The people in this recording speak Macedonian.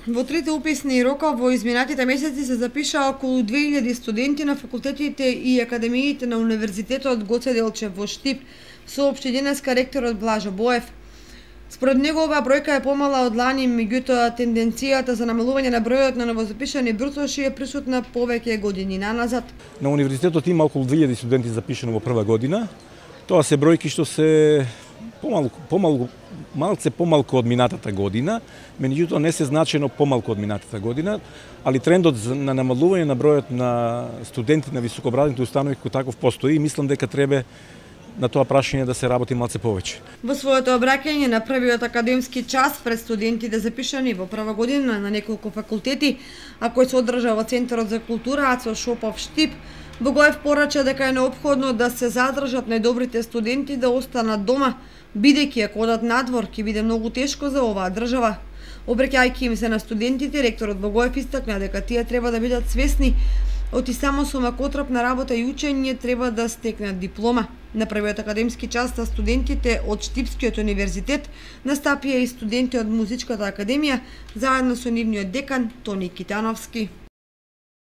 Во трите уписни рока во изминатите месеци се запиша околу 2000 студенти на факултетите и академиите на Универзитетот Гоце Делчев во Штип, соопшти денеска ректорот Блажо Боев. Според него оваа бројка е помала од лани, меѓутоа тенденцијата за намалување на бројот на новозапишани брусоши е присутна повеќе години наназад. На универзитетот има околу 2000 студенти запишани во прва година. Тоа се бројки што се малце помалку од минатата година, меѓутоа не се значено помалку од минатата година, али трендот на намалување на бројот на студенти на високообразовни установи кој таков постои и мислам дека треба на тоа прашање да се работи малце повеќе. Во своето обраќање на првиот академски час пред студентите запишани во прва година на неколку факултети, а кој се одржа во Центарот за култура Ацо Шопов Штип, Богоев порача дека е неопходно да се задржат најдобрите студенти да останат дома, бидејќи ако одат надвор ќе биде многу тешко за оваа држава. Обраќајќи им се на студентите, ректорот Богоев истакна дека тие треба да бидат свесни од и само со макотрапна работа и учење треба да стекнат диплома. На првиот академски час на студентите од Штипскиот универзитет настапија и студенти од Музичката академија заедно со нивниот декан Тони Китановски.